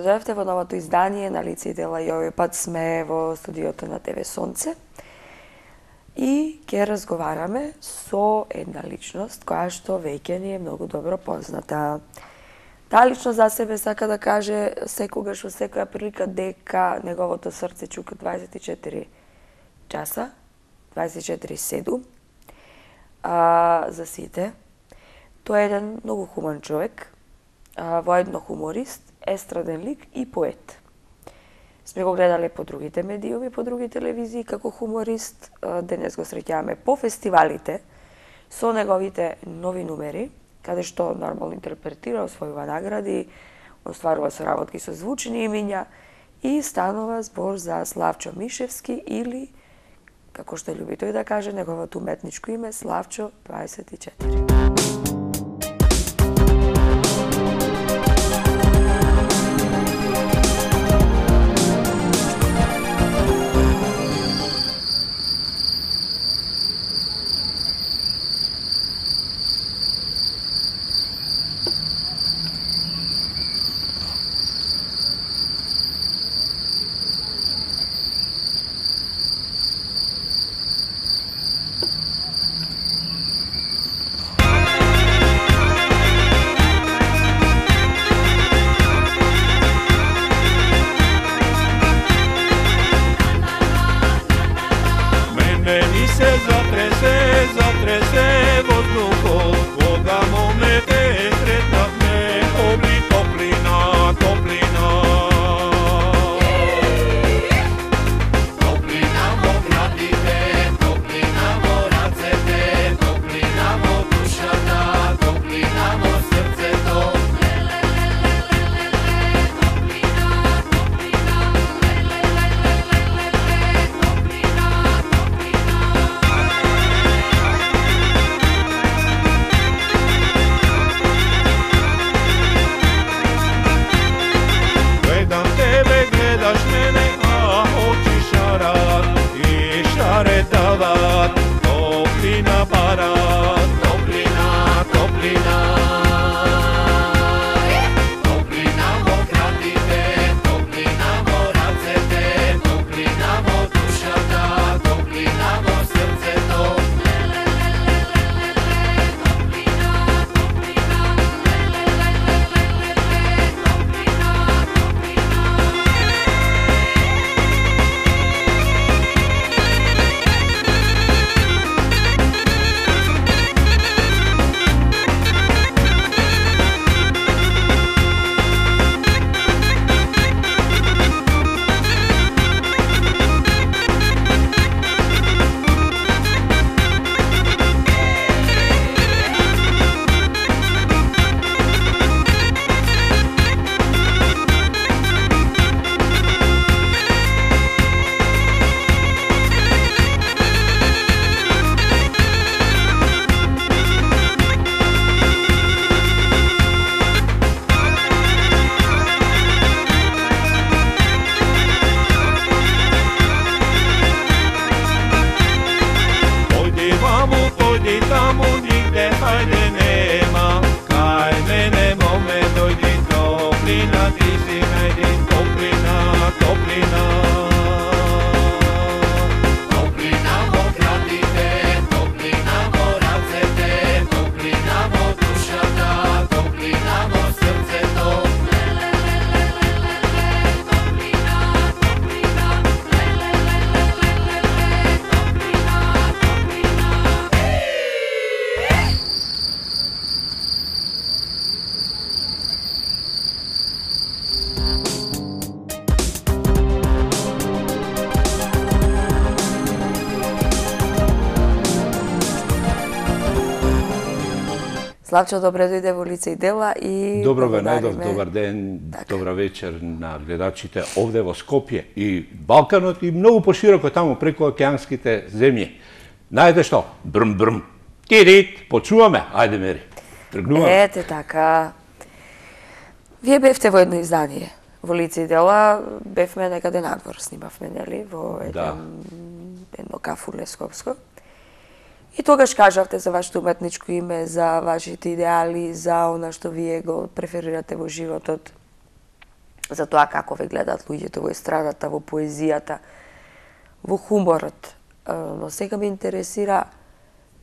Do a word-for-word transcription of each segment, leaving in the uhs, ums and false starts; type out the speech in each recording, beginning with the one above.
дојдовте во новото издание на Лице и дела и овој пат сме во студиото на ТВ Сонце и ќе разговараме со една личност која што веќе ни е многу добро позната. Таа личност за себе сака да каже секогаш во секоја прилика дека неговото срце чука дваесет и четири часа, дваесет и четири седум, а, за сите. Тој е еден многу хуман човек, а, воедно хуморист, естраден лик и поет. Сме го гледале по другите медиуми, по други телевизии како хуморист. Денес го среќаваме по фестивалите со неговите нови numeri, каде што нормално интерпретира, освојува награди, остварува соработки со звучни имиња и станува збор за Славчо Мишевски или, како што љуби тој да каже, неговото уметничко име Славчо дваесет и четири. Славчо, добре дојде во Лице и дела и добро ве најдов, добар ден, така. Добра вечер на гледачите овде во Скопје и Балканот и многу пошироко таму преку океанските земји. Знаете што? Брм брм. Тирит, почуваме. Ајде мери. Тргнуваме. Ете така. Вие бевте во едно издание во Лице и дела, бевме некаде надвор, снимавме, нели, во еден, да. едно кафуле скопско. И тогаш кажавте за вашето уметничко име, за вашите идеали, за она што вие го преферирате во животот, за тоа како ве гледаат луѓето во естрадата, во поезијата, во хуморот. Но сега ме интересира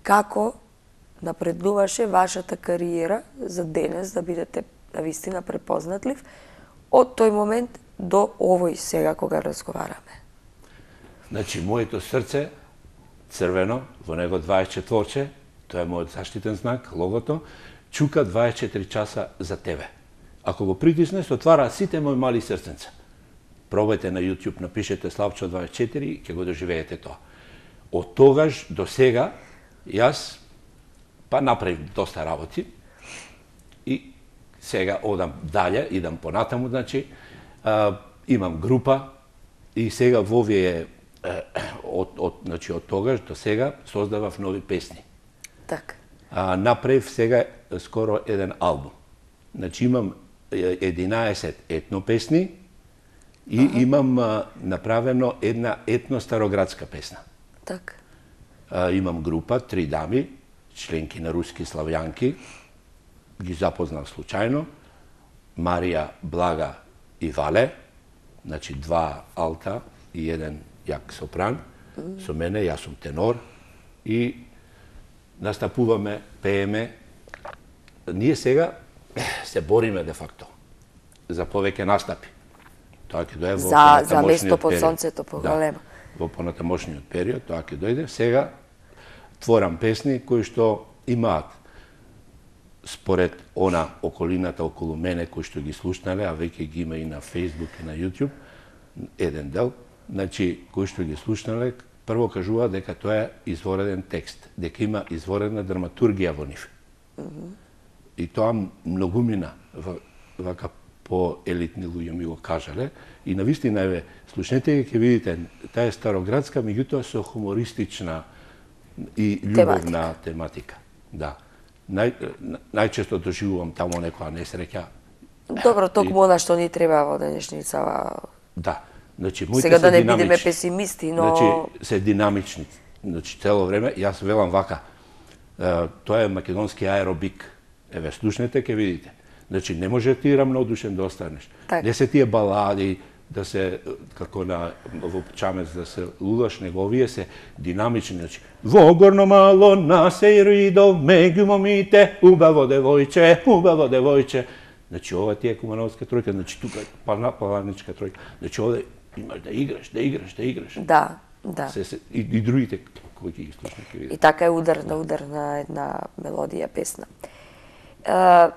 како напредуваше вашата кариера за денес да бидете навистина препознатлив од тој момент до овој сега кога разговараме. Значи, моето срце, црвено, во него дваесет и четири, тоа е мојот заштитен знак, логото, чука дваесет и четири часа за тебе. Ако го притисне, се отвара сите мои мали срценца. Пробајте на YouTube, напишете Славчо дваесет и четири и ќе го доживеете тоа. Од тогаш до сега, јас па направив доста работи и сега одам дале, идам понатаму, значи, а, имам група и сега во овие од, од, значи, од тогаш до сега создавав нови песни. Така. А, направив сега скоро еден албум. Значи имам единаесет етно песни и ага. имам а, направено една етно староградска песна. Така. А, имам група, три дами, членки на руски славјанки, ги запознав случајно, Марија, Блага и Вале, значи два алта и еден јак сопран, mm. со мене, јас сум тенор и настапуваме, пееме. Ние сега се бориме де факто за повеќе настапи. Тоа ќе дојде во за за место под сонцето поголемо. Да, во понатамошниот период тоа ќе дојде. Сега творам песни кои што имаат според она околината околу мене кои што ги слушнале, а веќе ги има и на Facebook и на YouTube, еден дел, значи кои што ги слушнале, прво кажува дека тоа е извореден текст, дека има изворедна драматургија во нив. Mm -hmm. И тоа многумина вака по-елитни луѓе ми го кажале и навистина еве слушнете ќе видите таа е староградска, меѓутоа со хумористична и љубовна тематика. тематика. Да. Нај, најчесто доживувам таму некоја несреќа. Добро, токму она што ни треба во денешницава. Да. Значи, моите сега се да не динамични. бидеме песимисти, но Значи, се динамични. Значи, цело време јас велам вака. Е, тоа е македонски аеробик. Еве, слушнете, ќе видите. Значи, не може ти рамнодушен да останеш. Так. Не се тие балади, да се, како на во Чамец, да се лудаш, него овие се динамични. Значи, во горно мало на сејридо, меѓу момите, убаво девојче, убаво девојче. Значи, ова ти е Кумановска тројка, значи, тука е паланичка тројка. Значи, овде имаш да играш, да играш, да играш. Да, да. Се, се, и, и другите кои ги слушнат ќе видат. И така е ударна, ударна една мелодија, песна. Uh,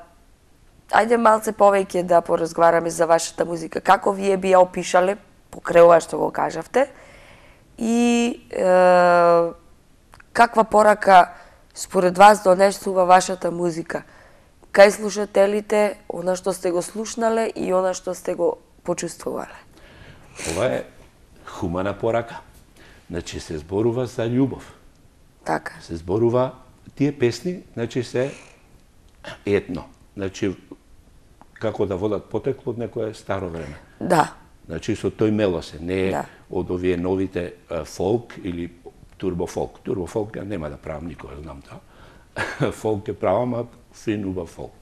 ајде малце повеќе да поразговараме за вашата музика. Како вие би ја опишале, покрај ова што го кажавте, и uh, каква порака според вас донесува вашата музика? Кај слушателите, она што сте го слушнале и она што сте го почувствувале? Ова е хумана порака. Значи се зборува за љубов. Така. Се зборува, тие песни, значи се етно. Значи, како да водат потекло од некое старо време. Да. Значи, со тој мелосе, не е да. од овие новите а, фолк или турбофолк. Турбофолк ја нема да правам, никога знам тоа. Фолк е правам, а фин убав фолк.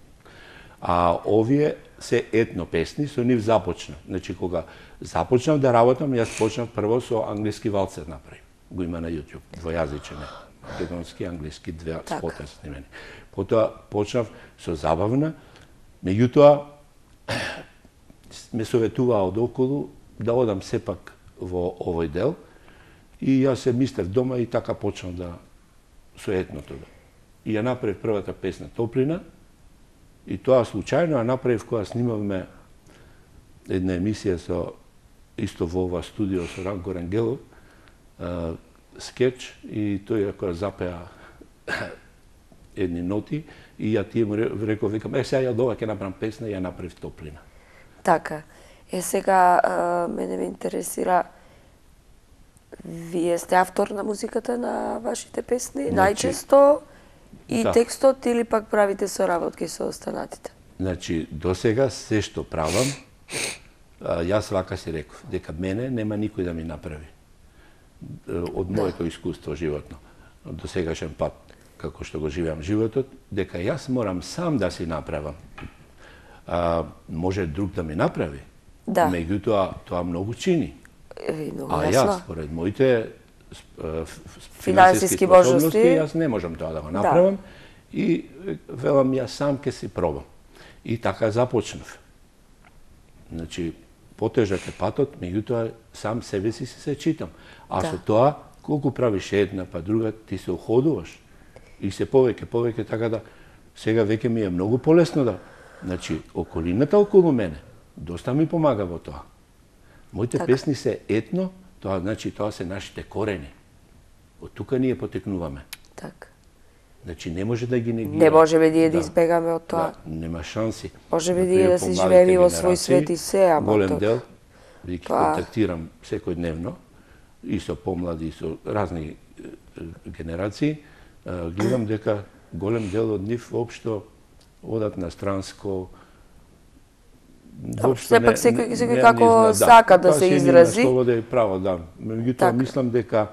А овие се етно песни, со нив започнав. Значи, кога започнав да работам, јас почнав прво со англиски валцер направив. Го има на YouTube, двојазичен е. Македонски, англиски, две так. спота снимени. Потоа почнав со забавна, меѓутоа ме советуваа од околу да одам сепак во овој дел и јас се мислев дома и така почнав да со етното. И ја направив првата песна Топлина и тоа случајно ја направив кога снимавме една емисија со исто во ова студио со Ранко Рангелов, скеч и тој кога запеа едни ноти и ја тие му реков, викам, е, сега ја дова ќе направам песна и ја направив Топлина. Така. Е, сега а, мене ме интересира, вие сте автор на музиката на вашите песни, значи, најчесто и да. Текстот или пак правите соработки со останатите? Значи, до сега се што правам, а, јас вака си реков, дека мене нема никој да ми направи. Од моето да. искуство животно, до сегашен пат, како што го живеам животот, дека јас морам сам да си направам. А, може друг да ми направи, Да. Меѓутоа, тоа многу чини. Е, многу А јасно. јас, според моите Финансиски способности, можности, јас не можам тоа да го направам и велам јас сам ќе си пробам. И така започнав. Значи, потежак е патот, меѓутоа сам себе си се читам. А Да. со тоа, колку правиш една па друга, ти се уходуваш. И се повеќе, повеќе, така да сега веќе ми е многу полесно да... Значи, околината околу мене доста ми помага во тоа. Моите Така. песни се етно, тоа значи тоа се нашите корени. Од тука ние потекнуваме. така. Значи не може да ги негираме. Не можеме ние да Да. избегаме од тоа. Да, нема шанси. Можеме Например, ние да си помладите живееме во свој генерации, свет и се, ама голем тоа- дел, ви ги Тоа- контактирам секојдневно, и со помлади, и со разни е, е, генерации, е, гледам дека голем дел од нив воопшто одат на странско, воопшто сепак секој- секој како сака да тоа се си изрази. има слобода и право, да. Меѓутоа Така. мислам дека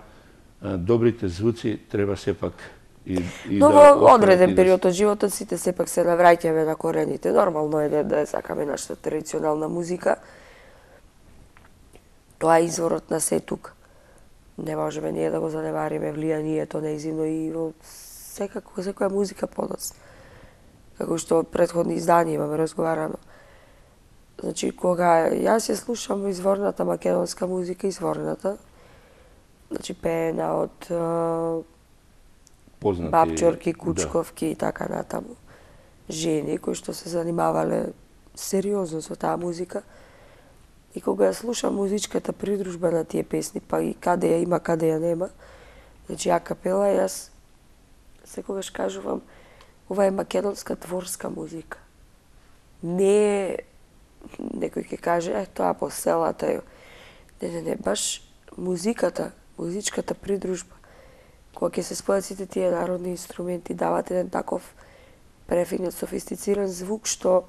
е, добрите звуци треба сепак и, и Но да во останат одреден и да период од животот сите сепак се навраќаме на корените. Нормално е да, да сакаме нашата традиционална музика. Тоа е изворот на се тука. Не можеме ние да го занемариме влијанието нејзино и во секако секоја музика подоцна. Како што од претходни изданија имаме разговарано. Значи, кога јас ја слушам изворната македонска музика, изворната, значи пеена од а, познати, бабчорки, да. кучковки и така натаму. Жени кои што се занимавале сериозно со таа музика. И кога ја слушам музичката придружба на тие песни, па и каде ја има, каде ја нема, значи а капела, јас секогаш кажувам, ова е македонска дворска музика. Не е, некој ќе каже, е, тоа по селата е. Не, не, не, баш музиката, музичката придружба, кога ќе се спојат сите тие народни инструменти, дават еден таков префинет, софистициран звук, што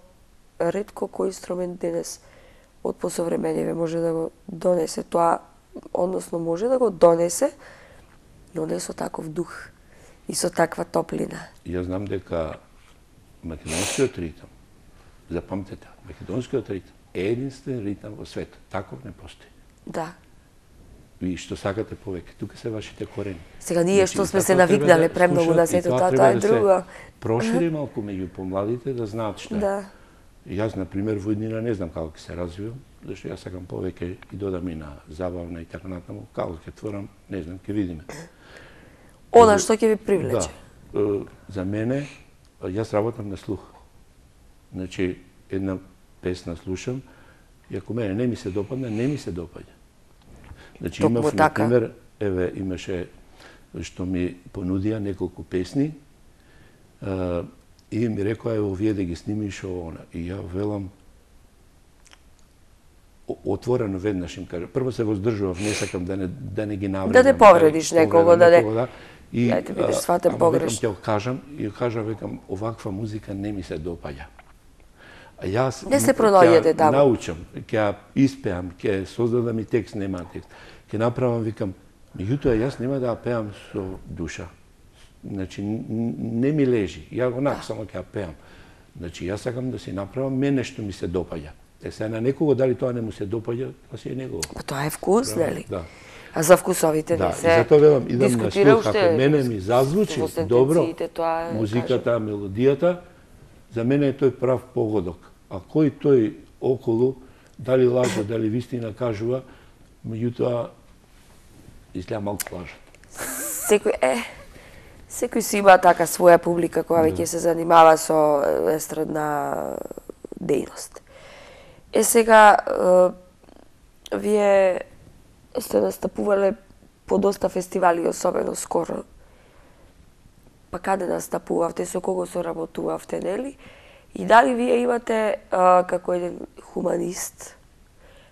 ретко кој инструмент денес од посовремениве може да го донесе тоа, односно може да го донесе, но не со таков дух и со таква топлина. Јас знам дека македонскиот ритам, запамтете, македонскиот ритам е единствен ритам во светот. Таков не постои. Да. И што сакате повеќе, тука се вашите корени. Сега ние Значи, што сме и се затоа треба навикнале да премногу слушаат, на и сето тоа тоа, треба тоа е да се друго. Прошири малку меѓу помладите да знаат што е. Да. И Јас, на пример, во иднина не знам како ќе се развивам, зашто јас сакам повеќе и додам и на забавна и така натаму. Како ќе творам, не знам, ќе видиме. Она што ќе ви привлече. Да. Е, За мене, јас работам на слух. Значи, една песна слушам, и ако мене не ми се допадне, не ми се допаѓа. Значи, Токму имав, така. например, еве, имаше што ми понудија неколку песни, е, и ми рекоа, ево, вие да ги снимиш ово, она. И ја велам, о- отворено веднаш им кажа. Прво се воздржував, не сакам да не, да не ги навредам. Да не повредиш некого, да не- да. И, Ја ти бидеш а, сватен ама погрешно. Викам, ќе го кажам, и ја кажа, викам, оваква музика не ми се допаѓа. А јас Не се ќе пронајдете ја таму. научам, ќе ја испеам, ќе создадам и текст, нема текст. Ќе направам, викам, меѓутоа јас нема да ја пеам со душа. Значи, н- н- не ми лежи. Ја онак само ќе ја пеам. Значи, јас сакам да си направам мене што ми се допаѓа. Е, сега на некого дали тоа не му се допаѓа, тоа си е негово. Па тоа е вкус, нели? Да. А за вкусовите Да, не и се затоа велам, идам на дискутира слух, уште. ако мене ми зазвучи во добро, сентенциите, тоа е, музиката, мелодијата, за мене е тој прав погодок. А кој тој околу, дали лаже, дали вистина кажува, меѓутоа, изгледа малку лажат. Секој е секој си има така своја публика која веќе се занимава со е, естрадна дејност. Е сега е, вие сте настапувале по доста фестивали, особено скоро. Па каде настапувавте, со кого соработувавте, нели? И дали вие имате а, како еден хуманист,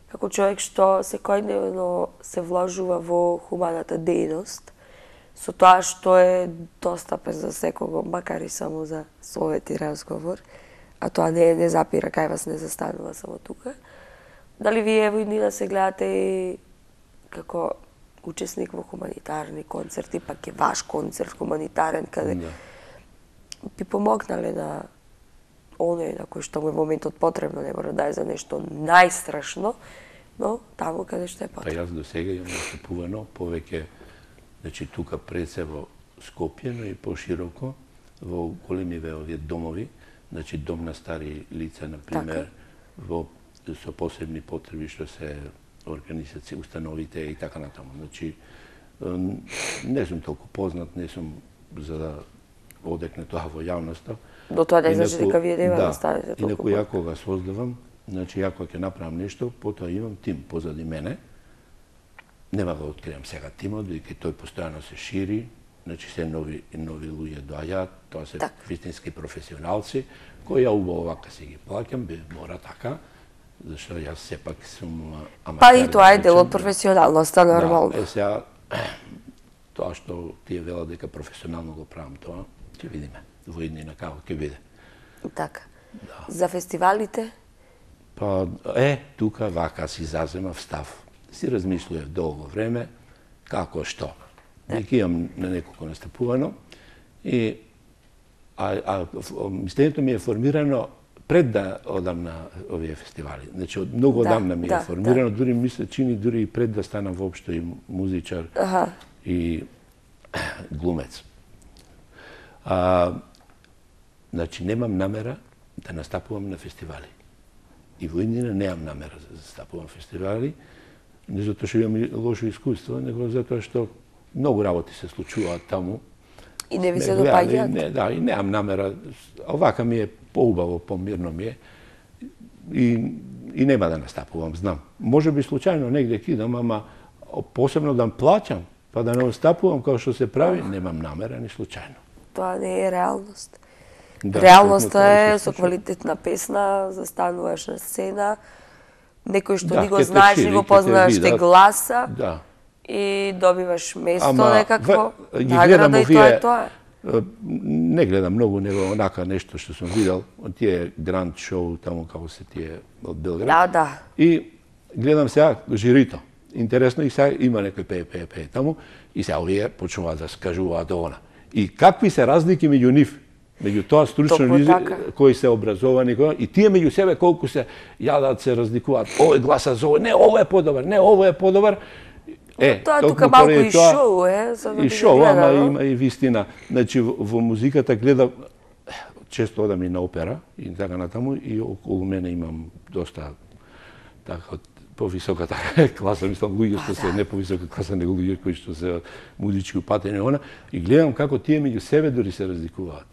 како човек што секојдневно се вложува во хуманата дејност, со тоа што е достапен за секого, макар и само за совет и разговор, а тоа не, не запира, кај вас не застанува само тука. Дали вие во иднина се гледате и како учесник во хуманитарни концерти, пак е ваш концерт хуманитарен, каде Да. би помогнале на оној на кој што му е моментот потребно, не мора да е за нешто најстрашно, но таму каде што е потребно. Па јас до сега имам настапувано повеќе, значи тука пред се во Скопје, но и пошироко во големиве овие домови, значи дом на стари лица, на пример, во со посебни потреби што се организации, установите и така натаму. Значи не сум толку познат, не сум за да одекне тоа во јавноста. До тоа не значи дека вие нема да Да, ставите толку. инаку ја кога создавам, значи ја кога ќе направам нешто, потоа имам тим позади мене. Нема да откриам сега тимот, бидејќи тој постојано се шири, значи се нови нови луѓе доаѓаат, тоа се так. вистински професионалци, кои ја убаво вака си ги плаќам, би мора така, зашто јас сепак сум аматер. Па и тоа е дел од професионалноста, нормално. Да, е сега тоа што тие велат дека професионално го правам тоа, ќе видиме во иднина како ќе биде. Така. Да. За фестивалите? Па е, тука вака си заземав став. Си размислував долго време како што. Дека имам на неколку настапувано и а, а мислењето ми е формирано пред да одам на овие фестивали. Значи од многу да, одамна ми е да, формирано, да. дури мисле чини дури и пред да станам воопшто и музичар Аха. и глумец. А, значи немам намера да настапувам на фестивали. И во иднина немам намера да настапувам на фестивали, не затоа што имам лошо искуство, него затоа што многу работи се случуваат таму. И не ви се допаѓаат? Не, да, и немам намера. Овака ми е поубаво, помирно ми е. И, и нема да настапувам, знам. Може би случајно негде кидам, ама посебно да плаќам, па да не настапувам како што се прави, немам намера ни случајно. Тоа не е реалност. Да, Реалноста е со квалитетна песна, застануваш на сцена, некој што да, ни го знаеш, ни го познаваш, те гласа да. И добиваш место Ама, некакво, в, награда и тоа е тоа. Не гледам многу, него онака нешто што сум видел, тие гранд шоу таму како се тие од Белград. Да, да. И гледам сега жирито. Интересно и сега има некој пее, пее, пее таму и сега овие почнуваат да скажуваат она. И какви се разлики меѓу нив? Меѓу тоа стручно луѓе кои се образовани и тие меѓу себе колку се јадат, се разликуваат. Овој гласа за овој, не овој е подобар, не овој е подобар. Е, тоа тука малку и тоа, шоу е, за да и шоу, ама има и вистина. Значи во, во музиката гледам, често одам и на опера и така натаму и околу мене имам доста така повисоката класа, мислам луѓе што се не повисока класа, него луѓе кои што се музички упатени она и гледам како тие меѓу себе дури се разликуваат.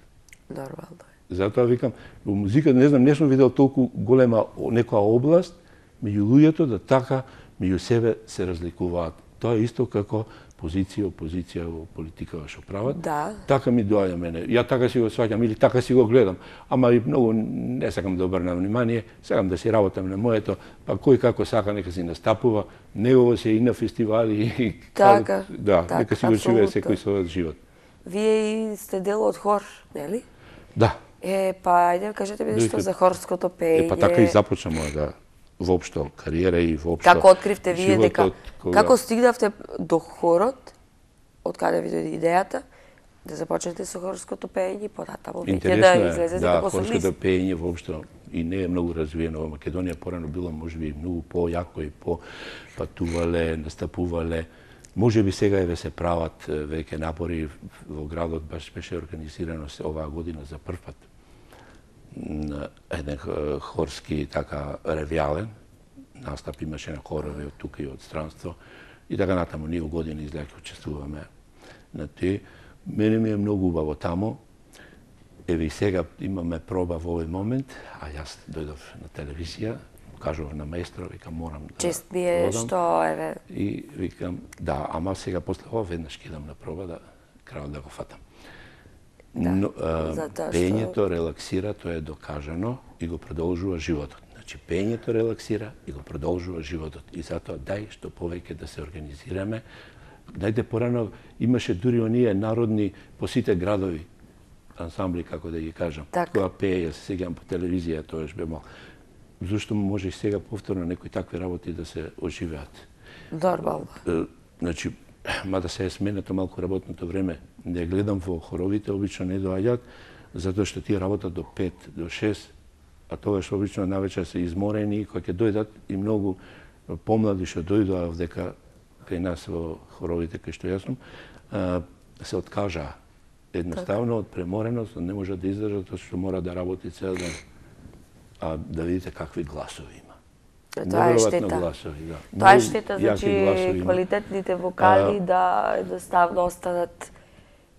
Нормално е. Затоа викам, во музиката не знам, не сум видел толку голема некоја област меѓу луѓето да така меѓу себе се разликуваат. Тоа е исто како позиција, опозиција во политикава што прават. Да. Така ми доаѓа мене. Ја така си го сваќам или така си го гледам. Ама и многу не сакам да обрнам внимание, сакам да си работам на моето, па кој како сака нека си настапува, негово се и на фестивали и така, да, така, нека си го живее секој својот живот. Вие и сте дел од хор, нели? Да. Е, па ајде кажете ми нешто за хорското пеење. Е, па така и започна мојата воопшто кариера и воопшто. Како откривте вие дека кога... како стигнавте до хорот, од каде ви дојде идејата да започнете со хорското пеење и понатаму веќе да излезете да, како солист? хорското пеење воопшто и не е многу развиено во Македонија, порано било можеби многу појако и по патувале, настапувале. Можеби сега еве се прават веќе напори во градот, баш беше организирано се оваа година за прв пат еден хорски така ревијален настап имаше на хорове од тука и од странство и така натаму ние години излеќа учествуваме на тој. Мене ми е многу убаво таму. Еве и сега имаме проба во овој момент, а јас дојдов на телевизија, кажував на маестро, викам морам да чест ми е одам. Што еве И викам да, ама сега после ова веднаш ќе идам на проба да крајот да го фатам. Да, Но, а, затоа пеењето што... релаксира, тоа е докажано и го продолжува животот. Значи пеењето релаксира и го продолжува животот. И затоа дај што повеќе да се организираме. Најде порано имаше дури оние народни по сите градови ансамбли, како да ги кажам. Так. Која пее, се сеќавам по телевизија, тоа бе мал. Зошто може и сега повторно некои такви работи да се оживеат? Нормално. Значи, мада се е сменето малку работното време, не гледам во хоровите, обично не доаѓаат, затоа што тие работат до пет, до шест, а тогаш обично навечер се изморени, кои ќе дојдат и многу помлади што дојдоа дека кај нас во хоровите кај што јас сум, се откажаа. Едноставно од премореност не може да издржат, тоа што мора да работи цел ден. А да видите какви гласови има. Тоа е штета. Гласови, да. Тоа е штета, значи квалитетните вокали а, да едноставно останат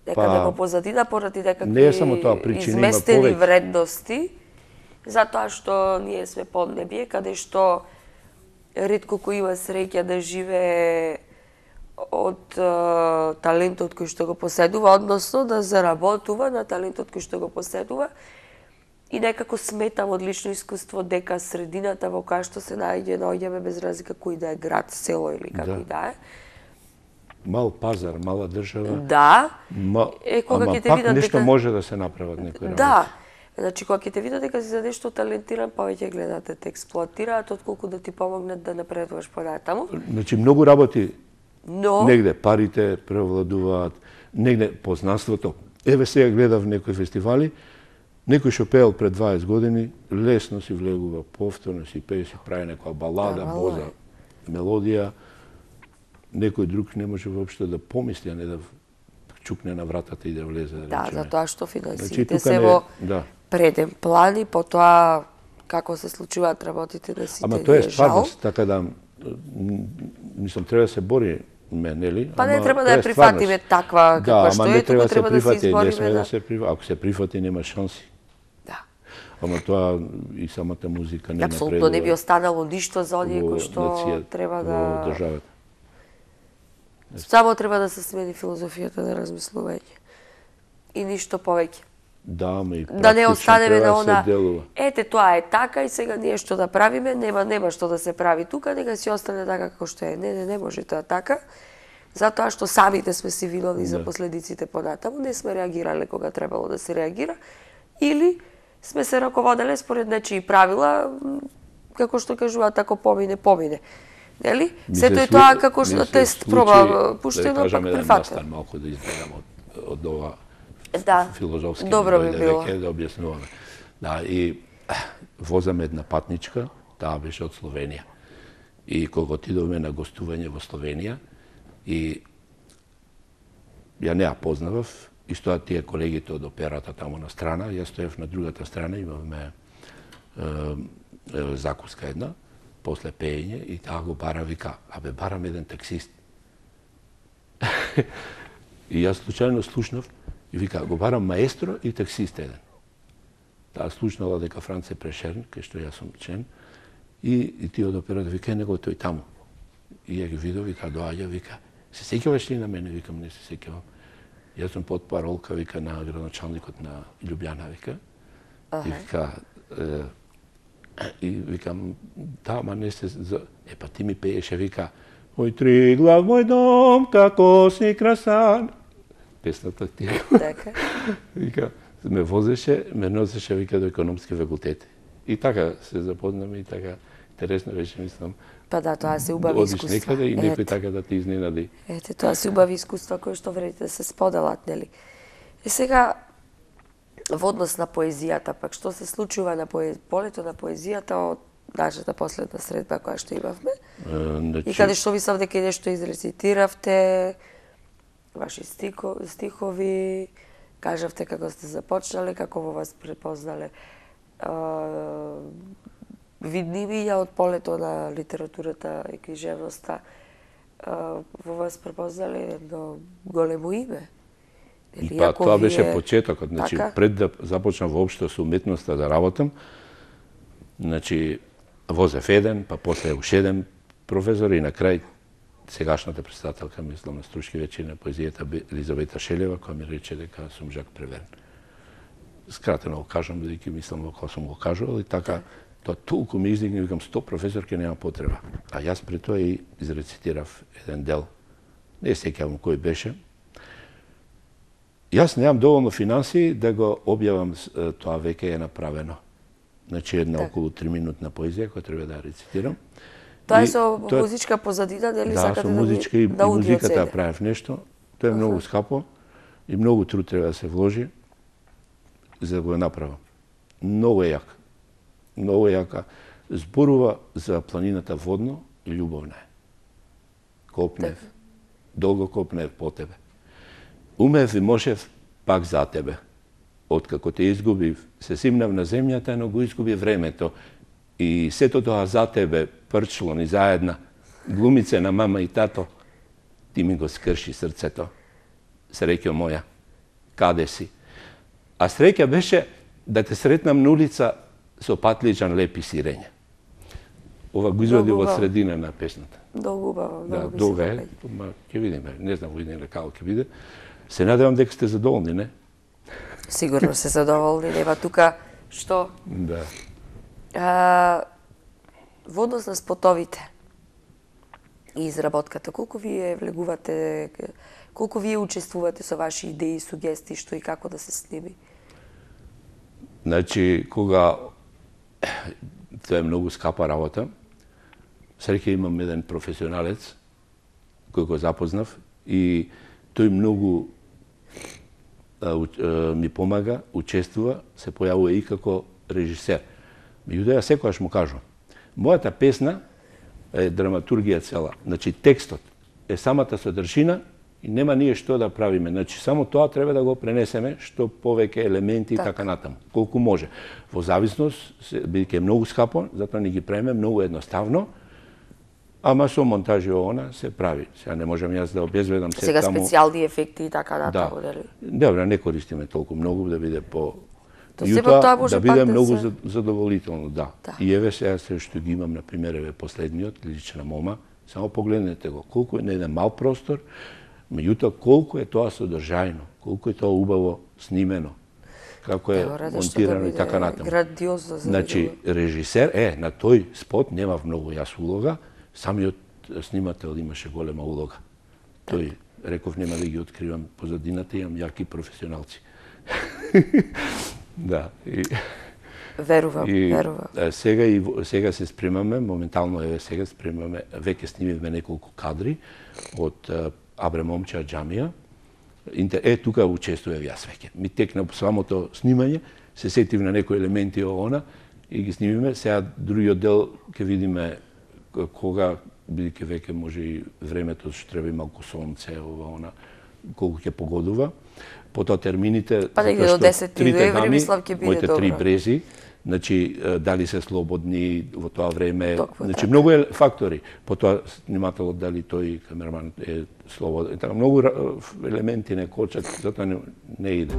некаде па, во позадина поради некакви не е само тоа, причина, изместени вредности, затоа што ние сме поднебие, каде што ретко кој има среќа да живее од uh, талентот кој што го поседува, односно да заработува на талентот кој што го поседува. И некако сметам од лично искуство дека средината во која што се наоѓа, наоѓаме без разлика кој да е град, село или како и да е. Мал пазар, мала држава. Да. Ма, е, кога ама ќе те пак видат нешто дека... може да се направат некои работи. Да. Значи, кога ќе те видат дека си за нешто талентиран, повеќе гледат да те експлоатираат, отколку да ти помогнат да напредуваш понатаму. Значи, многу работи, но... негде парите превладуваат, негде познанството. Еве сега гледав некои фестивали, некој што пеел пред дваесет години, лесно си влегува, повторно си пее, си прави некоја балада, да, боза, мелодија. Некој друг не може воопшто да помисли, а не да чукне на вратата и да влезе. Да, да затоа што финансиите значи, се не... во да. преден план и потоа како се случуваат работите да сите. Ама тоа е стварност, така да мислам треба да се бори ме, нели? Па не ама, треба да ја прифатиме таква каква да, што е, туку треба да се избориме. Не сме да да се прифати, ако се прифати нема шанси. Да. Ама тоа и самата музика не напредува. Апсолутно не би останало ништо за оние кои што треба да во државата. Само треба да се смени филозофијата на размислување. И ништо повеќе. Да, ма и да не останеме на она. Да ете тоа е така и сега ние што да правиме, нема нема што да се прави тука, нека си остане така како што е. Не, не, не може тоа така. Затоа што самите сме си виновни да. за последиците понатаму, не сме реагирале кога требало да се реагира или сме се раководеле според нечии правила, како што кажуваат, ако помине, помине. Нели? Сето е тоа како што тест проба пуштено, да пак прифатено. Да малку да изгледам од, од ова да. филозофски. Добро би било. Да објаснуваме. Да, и возам една патничка, таа беше од Словенија. И кога отидовме на гостување во Словенија, и ја не ја познавав, и стојат тие колегите од операта таму на страна, јас стоев на другата страна, имавме е, е, закуска една, после пеење, и таа го бара, вика, абе, барам еден таксист. И јас случајно слушнав, и вика, го барам маестро и таксист еден. Таа слушнала дека Франц е Прешерн, кај што јас сум член, и, и тие од операта, вика, него тој таму. И ја ги видов, вика, доаѓа, вика, се сеќаваш ли на мене? Викам, не се сеќавам. Јас сум под паролка, вика, на градоначалникот на Љубљана, вика. И вика, е, и викам, да, ма не се... Е, па ти ми пееше, вика, мој Триглав, мој дом, како си красан. Песната ти. Така. Вика, ме возеше, ме носеше, вика, до економски факултет. И така се запознаме, и така интересно беше, мислам. Па да, тоа се убави искуства. Одиш некаде и некој така да те изненади. Ете, тоа се убави искуства кои што вреди да се споделат, нели? И сега, во однос на поезијата, пак што се случува на поез... полето на поезијата од нашата последна средба која што имавме? Uh, значи... И каде што мислам дека нешто изрецитиравте, ваши стихо... стихови, кажавте како сте започнале, како во вас препознале uh, видни имиња од полето на литературата и книжевноста, uh, во вас препознале едно големо име. Или, па, тоа беше вие... почетокот, значи така? Пред да започнам воопшто со уметноста да работам, значи возев еден, па после уште еден професор и на крај сегашната председателка, мислам, на Струшки вечери на поезијата Елизавета Шелева, која ми рече дека сум Жак Преверн. Скратено го кажам, бидејќи мислам како сум го кажувал, и така тоа толку ми издигне, викам, сто професорки нема потреба. А јас пред тоа и изрецитирав еден дел. Не сеќавам кој беше. Јас немам доволно финанси да го објавам, тоа веќе е направено. Значи една так. околу три минутна поезија која треба да ја рецитирам. Тоа е со тоа... музичка позадина, дали да, сакате да музичка и, да и музиката ја правев нешто. Тоа е uh -huh. многу скапо и многу труд треба да се вложи. за да го направам. Многу е јака. Многу е јака. Зборува за планината водно и љубовна е. Копнев, долго копнев по тебе. Умев и можев пак за тебе. Откако те изгубив, се симнав на земјата, но го изгуби времето. И сето тоа за тебе, прчло ни заедна, глумице на мама и тато, ти ми го скрши срцето. Среќо моја, каде си? А среќа беше да те сретнам на улица со патличан лепи сирење. Ова го извади во средина на песната. Долго убаво, да, долго долго е, ма ќе видиме, не знам во идење како ќе биде. Се надевам дека сте задоволни, не? Сигурно се задоволни, нема тука што? Да. А, во однос на спотовите и изработката, колку вие влегувате, колку вие учествувате со ваши идеи, сугестии, што и како да се сними? Значи, кога тоа е многу скапа работа, среќа имам еден професионалец кој го запознав и тој многу а, а, ми помага, учествува, се појавува и како режисер. Меѓутоа, секогаш му кажувам, мојата песна е драматургија цела. Значи, текстот е самата содржина и нема ние што да правиме. Значи, само тоа треба да го пренесеме, што повеќе елементи и така натаму, колку може. Во зависност, бидејќи е многу скапо, затоа ни ги правиме многу едноставно, ама со монтажи она се прави. Сега не можам јас да обезведам се Сега таму. специјални ефекти и така натаму, да. дали? Добре, не користиме толку многу да биде по Јутоа да биде да многу се... задоволително, да. да. И еве сега се што ги имам, на пример, еве последниот, Лична мома, само погледнете го, колку е на еден мал простор, меѓутоа колку е тоа содржајно, колку е тоа убаво снимено, како е монтирано да и така натаму. Грандиозно за Значи, режисер, е, на тој спот немав многу јас улога, самиот снимател имаше голема улога. Тој, реков, нема да ги откривам позадината, имам јаки професионалци. Да. И, верувам, и, верувам. Сега, и, сега се спремаме, моментално еве сега спремаме, веќе снимивме неколку кадри од Абре момче џамија. Е, тука учествував јас веќе. Ми текна самото снимање, се сетив на некои елементи од она и ги снимиме. Сега другиот дел ќе видиме кога, бидејќи веќе може и времето што треба и малку сонце, ова она, колку ќе погодува. Потоа термините, па затоа што десети трите ноември, дами, мислам, ќе биде моите добро. три брези, значи дали се слободни во тоа време, Токму значи така. многу е фактори. Потоа снимателот дали тој камераман е слободен, така многу елементи не кочат, затоа не, не иде.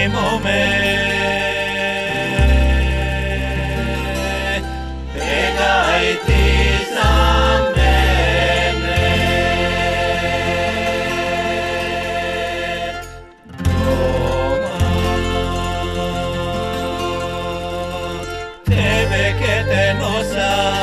моме, пегај ти за мене. Дома, тебе ке те носа,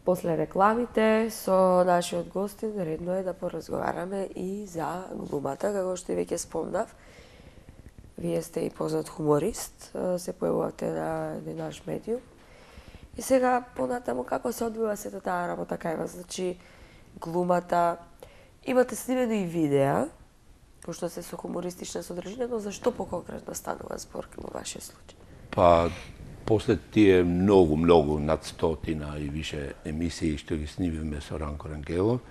После рекламите со нашиот гостин редно е да поразговараме и за глумата, како што веќе спомнав. Вие сте и познат хуморист, се појавувате на еден наш медиум. И сега понатаму како се одвива сета таа работа кај вас? Значи глумата, имате снимено и видеа, пошто се со хумористична содржина, но зашто поконкретно станува збор во вашиот случај? Па после тие многу, многу, над стотина и више емисии што ги снимивме со Ранко Рангелов,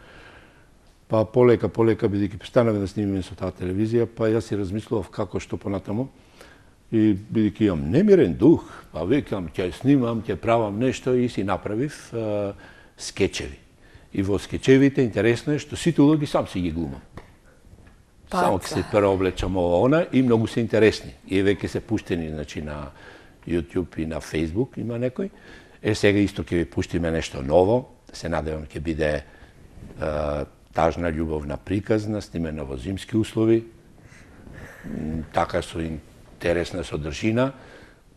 па полека, полека, бидејќи станавме да снимиме со таа телевизија, па јас си размислував како што понатаму. И бидејќи имам немирен дух, па викам, ќе снимам, ќе правам нешто и си направив е, скечеви. И во скечевите интересно е што сите улоги сам си ги глумам. Па, Само ќе се преоблечам ова она и многу се интересни. И веќе се пуштени значи на YouTube и на Facebook има некој. Е сега исто ќе ви пуштиме нешто ново, се надевам ќе биде е, тажна љубовна приказна, снимена во зимски услови, така со интересна содржина.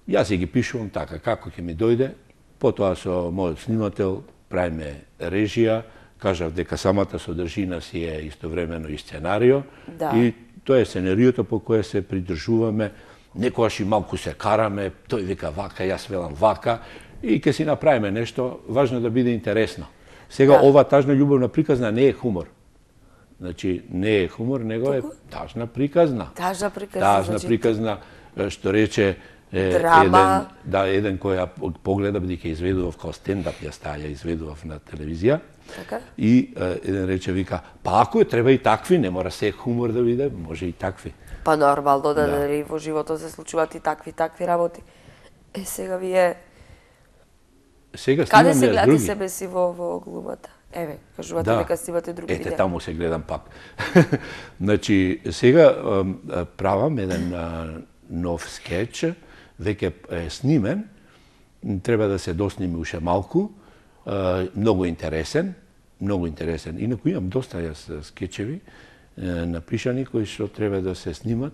Јас си ги пишувам така како ќе ми дојде, потоа со мојот снимател правиме режија, кажав дека самата содржина си е истовремено и сценарио, Да. и тоа е сценариото по кое се придржуваме, некогаш и малку се караме, тој вика вака, јас велам вака, и ќе си направиме нешто, важно да биде интересно. Сега, Да. ова тажна љубовна приказна не е хумор. Значи, не е хумор, него е Туку? тажна приказна. Тажна приказна, Тажна значи, приказна, е, што рече е, Драма. еден, да, еден кој ја погледа, бидејќи изведував као стендап, ја стаја, изведував на телевизија. Така? И е, еден рече, вика, па ако е, треба и такви, не мора се хумор да биде, може и такви. Па нормално да, Да. дали во животот се случуваат и такви такви работи. Е, сега вие Сега каде снимам се јас гледате други. себе си во, во глумата? Еве, кажувате Да. дека снимате други Ете, видеа. таму се гледам пак. Значи, сега ам, а, правам еден а, нов скеч, веќе е снимен, треба да се досними уште малку, а, многу интересен, многу интересен. Инаку имам доста јас скечеви е, напишани кои што треба да се снимат,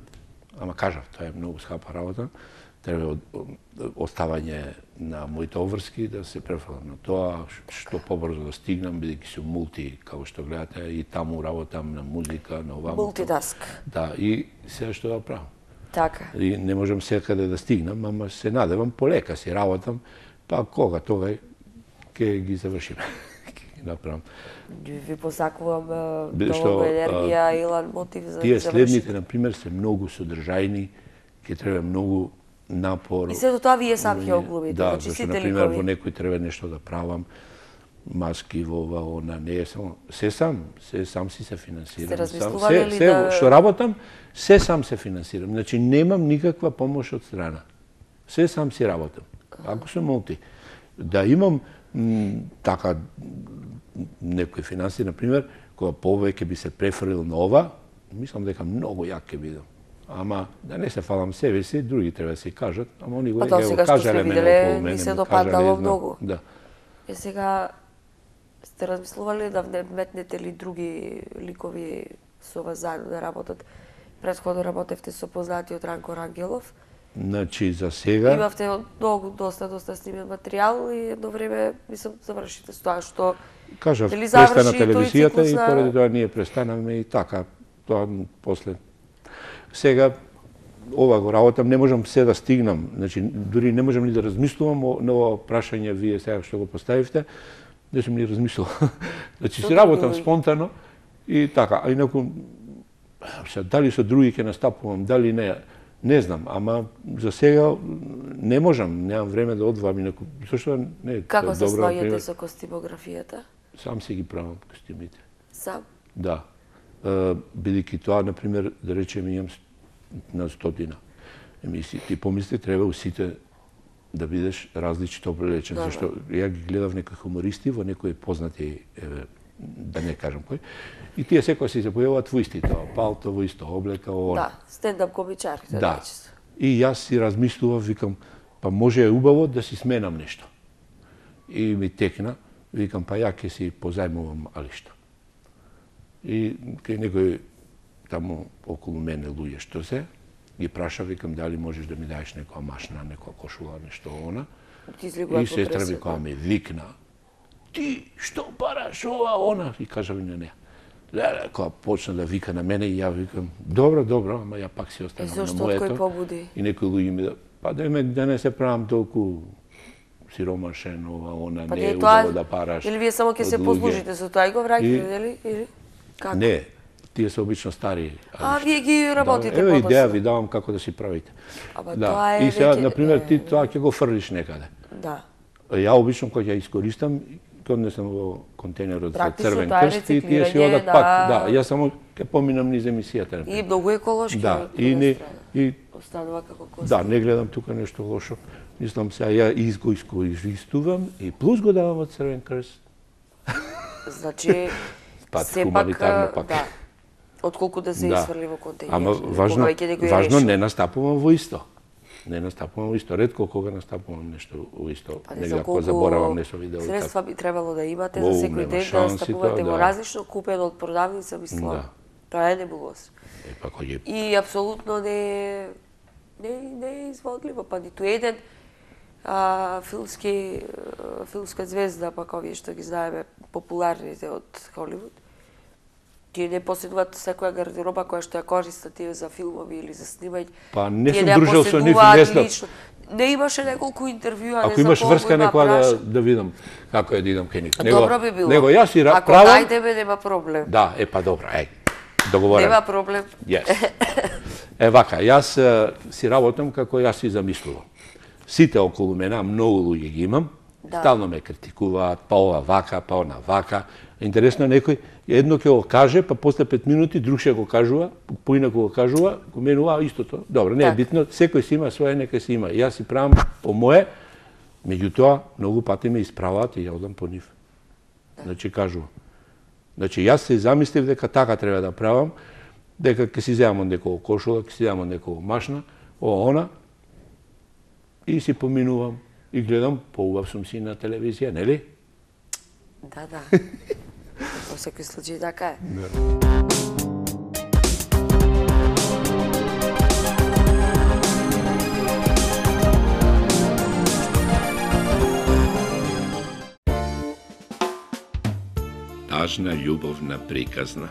ама кажав, тоа е многу скапа работа, треба од, оставање на моите обврски да се префрлам на тоа, што побрзо да стигнам, бидејќи сум мулти, како што гледате, и таму работам на музика, на оваму. Мултитаск. Да, и сега што да правам. Така. И не можам секаде да стигнам, ама се надевам, полека си работам, па кога тогај ќе ги завршиме. Ќе ги направам. Ви посакувам е, Биде што, многу а, енергија, илан мотив за Тие да завршите. следните, на пример, се многу содржајни, ќе треба многу напор. И сето тоа вие сам ќе оглумите, Да, значи зашто, сите на пример, ликови. во некој треба нешто да правам, маски во ова, она, не е само, се сам, се сам си се финансирам. Сте Сам- размислували се, ли се, да- што работам, се сам се финансирам. Значи, немам никаква помош од страна. Се сам си работам. Ако сум мулти. Да имам м, така некои финанси, на пример, кога повеќе би се префрлил на ова, мислам дека многу јак ќе бидам. Ама да не се фалам себе си, други треба да се кажат, ама они го Па тоа ево, сега што кажале сте мене виделе, околу ви мене, се ми допаднало кажале, знам. многу. Да. Е сега сте размислували да вметнете ли други ликови со вас заедно да работат? Претходно работевте со познатиот Ранко Рангелов. Значи, за сега, Имавте многу, доста, доста снимен материјал и едно време, мислам, завршите со тоа што кажав, дали престана заврши тој телевизијата циклус и на- поради тоа ние престанавме и така, тоа после. Сега, ова го работам, не можам се да стигнам, значи, дури не можам ни да размислувам о- на ова прашање вие сега што го поставивте, не сум ни размислувал. Значи, Што си работам други? спонтано и така, а инаку, се, дали со други ќе настапувам, дали не, не знам, ама за сега не можам, немам време да одвоам инаку, зашто не е како се добро, снаѓате например, со костимографијата? сам си ги правам костимите. Сам? Да. Е, бидејќи тоа, на пример, да речеме, имам с- на стотина емисии. Ти помисли, треба у сите да бидеш различито облечен, Добро. зашто ја ги гледав некои хумористи во некои познати, еве, да не кажам кој, и тие секој си се појавуваат во истите, палто, во исто облека, оно. Да, стендап комичарите, Да. најчесто. И јас си размислував, викам, па може е убаво да си сменам нешто. И ми текна, викам, па ја ќе си позајмувам алишта. И кај некој таму околу мене луѓе што се, ги праша, викам, дали можеш да ми даеш некоја машна, некоја кошула, нешто она. Ти излегуваат И во сестра ми пресвета. која ми викна, ти што бараш ова, она, и кажа ми на неа. Леле, кога почна да вика на мене и ја викам, добро, добро, ама ја пак си Е, останам на зошто, од моето. кој побуди? И некои луѓе ми да, па да ме да не се правам толку сиромашен, ова, она, Па не не е е тоа, убаво да параш. или вие само ќе од се луѓе. послужите со тоа и го враќате, И- или? Или? Како? Не, тие се обично стари. А, вие ги работите Да, еве подоцна. идеја ви давам како да си правите. Ама Да. тоа е И сега, веќе- на пример, ти е, тоа ќе го фрлиш некаде. Да. Ја обично кога ја искористам, кога не сам во контейнерот за Практично црвен тоа е крст и тие си рециклирање одат на- пак. Да, јас само ќе поминам низ емисијата. на И пример. многу еколошки. Да, од и друга не страна. и Останува како кост. да, не гледам тука нешто лошо. Мислам се ја изго искористувам и плюс го давам од црвен крст. Значи, Пат сепак, хуманитарно пак. да, отколку да се Да. изфрли во контейнер. Ама или важно, кога веќе некој важно реши. не настапувам во исто. Не настапувам исто, ретко кога настапувам нешто исто. Па не Негде знам ако колку заборавам нешто видео. средства би требало да имате Воу, за секој нема ден да шанси настапувате тоа, во да. различно купено од продавница, мислам. Да. Тоа е небулоз. Е, па кој е И апсолутно не е не, не е изводливо, па ниту еден а, филмски а, филмска звезда, па овие што ги знаеме популарните од Холивуд. Тие не поседуваат секоја гардероба која што ја користат тие за филмови или за снимање. Па не Тие сум ја дружел со нив, поседуваат не знам. лично. Не имаше неколку интервјуа, не Ако знам имаш колку врска има некоја да, праша. да видам како е да идам кај нив. Добро би било. Него јас и ра- Ако правам. најдеме, нема проблем. Да, е па добро, еј. Договорено. Нема проблем. Yes. Е вака, јас е, си работам како јас си замислувам. Сите околу мене, многу луѓе ги имам, Да. стално ме критикуваат, па ова вака, па она вака. Интересно некој едно ќе го каже, па после пет минути друг ќе го кажува, поинаку го кажува, го менува истото. Добро, не е Так. битно, секој си има своje, нека си има. Јас си правам по моje, меѓутоа многу пати ме исправаат и ја одам по нив. Значи кажувам. Значи јас се замислив дека така треба да правам, дека ќе си земам од некој кошула, ќе си земам од некој машна, о она, и си поминувам и гледам, поубав сум си на телевизија, нели? Да, да. Во секој случај така е. Тажна љубовна приказна.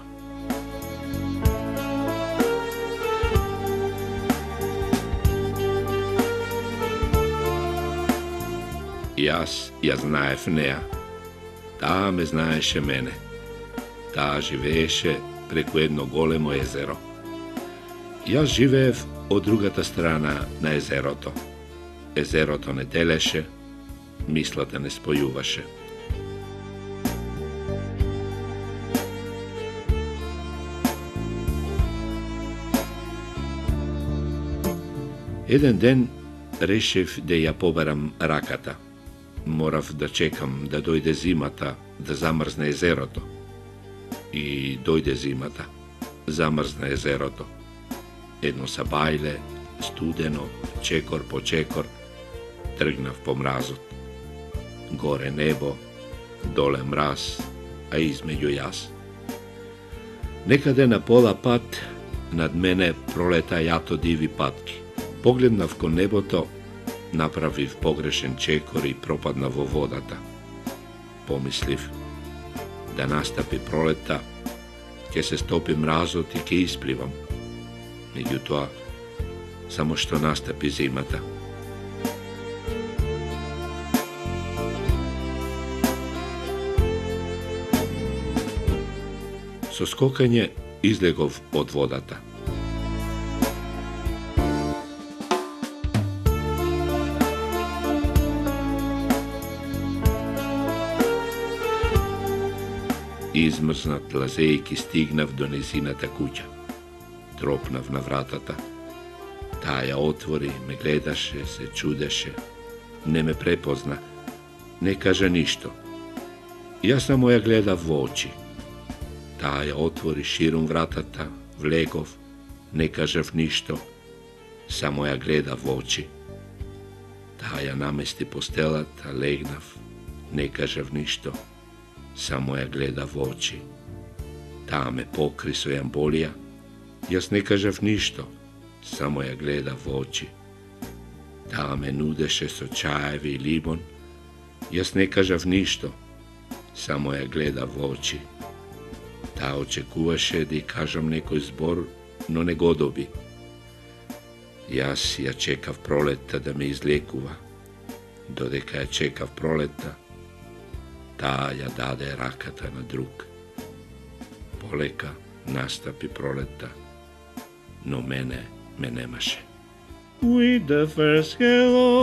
Јас ја знаев неа. Таа ме знаеше мене. Таа живееше преку едно големо езеро. Јас живеев од другата страна на езерото. Езерото не делеше, мислата не спојуваше. Еден ден решив да ја побарам раката. Морав да чекам да дојде зимата, да замрзне езерото. И дојде зимата, замрзна езерото. Едно сабајле, студено, чекор по чекор, тргнав по мразот. Горе небо, доле мраз, а измеѓу јас. Некаде на пола пат, над мене пролета јато диви патки. Погледнав кон небото, направив погрешен чекор и пропаднав во водата. Помислив, да настапи пролета, ќе се стопи мразот и ќе испливам. Меѓутоа, само што настапи зимата. Со скокање излегов од водата. Измрзнат лазејки стигнав до незината куќа. Тропнав на вратата. Таа ја отвори, ме гледаше, се чудеше. Не ме препозна. Не кажа ништо. Јас само ја гледав во очи. Таа ја отвори ширум вратата, влегов, не кажав ништо. Само ја гледав во очи. Таа ја намести постелата, легнав, не кажав ништо. Само ја гледав во очи. Таа ме покри со јамболија. Јас не кажав ништо. Само ја гледав во очи. Таа ме нудеше со чаеви и лимон. Јас не кажав ништо. Само ја гледав во очи. Таа очекуваше да ја кажам некој збор, но не го доби. Јас ја чекав пролетта да ме излекува. Додека ја чекав пролетта, таа ја даде раката на друг. Полека настапи пролетта, но мене ме немаше. With the first hello,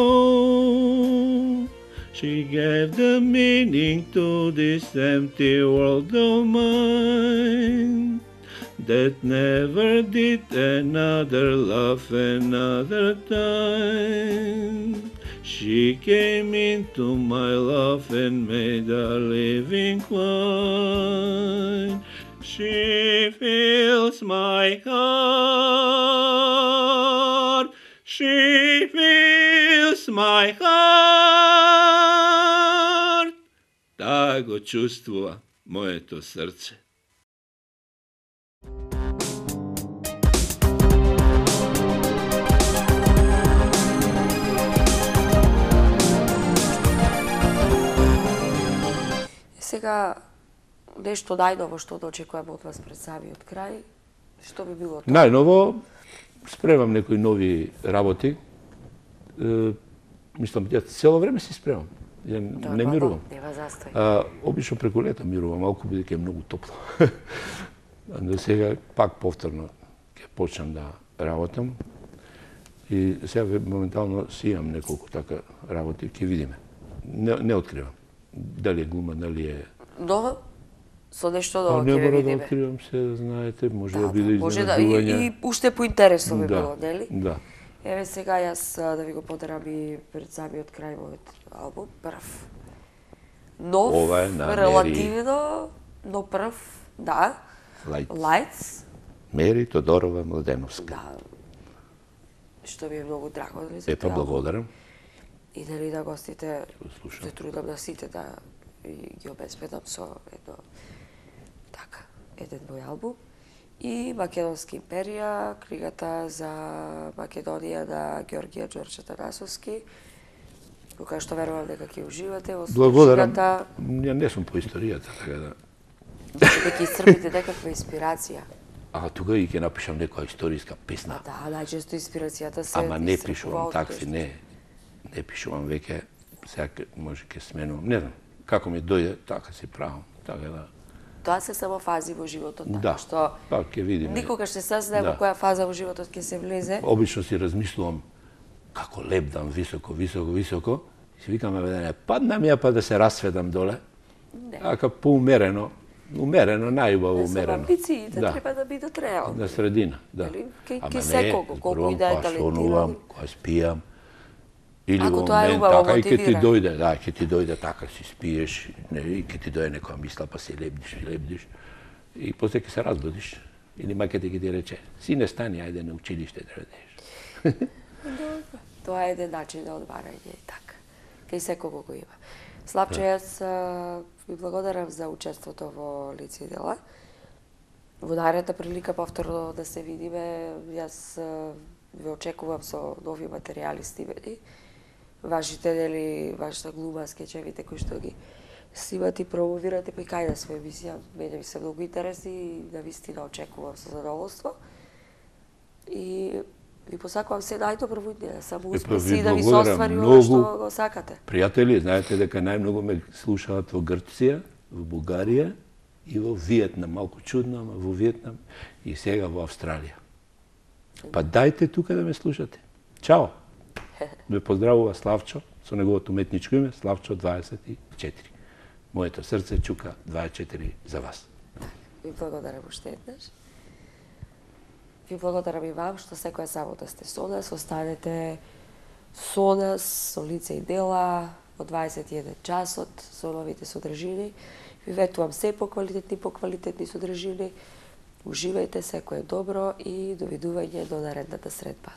she gave the meaning to this empty world of mine, that never did another love another time. She came into my love and made a living wine. She fills my heart. She fills my heart. Таа го чувствува моето срце. Сега, нешто најново што да очекуваме од вас пред самиот крај, што би било тоа? Најново, спремам некои нови работи. Е, мислам, ја цело време си спремам. Ја Тоа не баба, мирувам. Нема застој. А, обично преку лето мирувам, малку бидејќи е многу топло. Но сега пак повторно ќе почнам да работам. И сега моментално си имам неколку така работи, ќе видиме. Не, не откривам. Дали е глума, дали е... Но, со нешто А ново не ќе ве мора да видиме. откривам се, знаете, може да, Да, биде може да, изненадување. и, и уште поинтересно би Да, било, нели? да. Еве сега јас а, да ви го подарам и пред самиот крај мојот албум, прв. Нов, Ова е на релативно, но прв, да. Lights. Lights. Мери Тодорова Младеновска. Да. Што ми е многу драго, нели, за Епа, тој албум. благодарам. И дали да гостите слушам. се трудам да сите да и ги обезбедам со едно така, еден мој албум. И Македонска империја, книгата за Македонија на Ѓорѓија Ѓорче Атанасовски, која што верувам дека ќе уживате во Благодарам. слушката, Ја не сум по историјата, така да... дека ќе исцрпите некаква инспирација. А тука и ќе напишам некоја историска песна. Да, најчесто инспирацијата се Ама не исцрпува пишувам од такси, нешто. не. Не пишувам веќе, сега ке- може ќе сменувам, не знам. Како ми дојде, така си правам. Така да... Тоа се само фази во животот, така Да, што па ќе видиме. никогаш се сазнае во Да. која фаза во животот ќе се влезе. Обично си размислувам како лепдам високо, високо, високо. И си викам, да не паднам ја па да се расведам доле. Не. Така поумерено, умерено, најубаво Не, со умерено. амбициите Да. треба да бидат реални. На средина, да. Дали, ке- Ама ке не, секого, колку зборувам и да е кога талентиран. сонувам, кога спијам. Или Ако во тоа е момент убаво, така и ќе ти мотивира. дојде, да, ќе ти дојде така си спиеш, не, и ќе ти дојде некоја мисла па се лебдиш и лебдиш. И после ќе се разбудиш. Или мајката ќе ти рече, сине стани, ајде на училиште да одиш. Тоа е еден начин на одмарање и така. Кај секого го има. Славче, јас а, ви благодарам за учеството во Лице и дела. Во наредна прилика повторно да се видиме, јас а, ве очекувам со нови материјали стивени. Вашите дели, вашата глума, скечевите кои што ги снимате и промовирате, па и кај да своја емисија. Мене ми се многу интересни и на вистина очекувам со задоволство. И ви посакувам се најдобро во иднина, само Епа, успеси ви и да ви се благодарам оствари ова многу. што го сакате. Пријатели, знаете дека најмногу ме слушаат во Грција, во Бугарија и во Виетнам. Малку чудно, ама во Виетнам и сега во Австралија. Па дајте тука да ме слушате. Чао! Ме поздравува Славчо, со неговото уметничко име, Славчо дваесет и четири. Моето срце чука дваесет и четири за вас. Ви благодарам уште еднаш. Ви благодарам и вам што секоја сабота сте со нас. Останете со нас, со Лице и дела, во дваесет и еден часот, со новите содржини. Ви ветувам се поквалитетни, поквалитетни содржини. Уживајте, секој е добро и довидување до наредната средба.